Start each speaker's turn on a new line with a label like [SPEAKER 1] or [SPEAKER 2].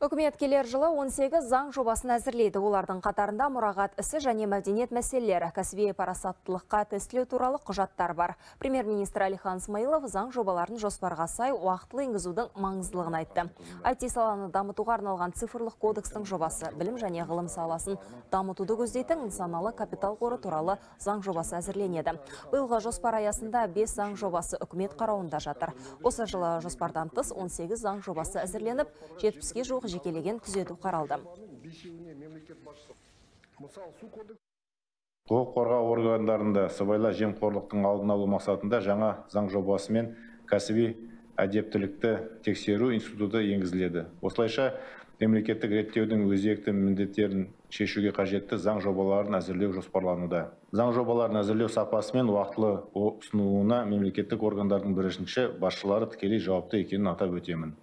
[SPEAKER 1] Үкімет келер жылы 18 заң жобасын әзірлейді. Олардың қатарында мұрағат ісі және мәдениет мәселелері, кәсіби парасаттылыққа тестілеу туралы құжаттар бар. Премьер-министр Әлихан Смайылов заң жобаларын жоспарға сай уақытылы енгізудің маңыздылығын айтты. IT саланы дамытуға арналған цифрлық кодекстің жобасы білім және ғылым саласын дамытуды көздейтін нысаналы капитал қоры туралы заң жобасы әзірленеді. Биылғы жоспар аясында 5 заң жобасы үкімет қарауында жатыр. Осы жылы жоспардан тыс 18 заң жобасы әзірленіп, 70-ге жуық жекелеген түзету қаралды.
[SPEAKER 2] Құқық қорғау органдарында сыбайлас жемқорлықтың алдын алу мақсатында жаңа заң жобасы мен кәсіби әдептілікті тексеру институты енгізіледі. Осылайша мемлекеттік реттеудің өзекті міндеттерін шешуге қажетті заң жобаларын әзірлеу жоспарлануда. Заң жобаларын әзірлеу сапасы мен уақытылы ұсынуына мемлекеттік органдардың бірінші басшылары тікелей жауапты екенін атап өтемін.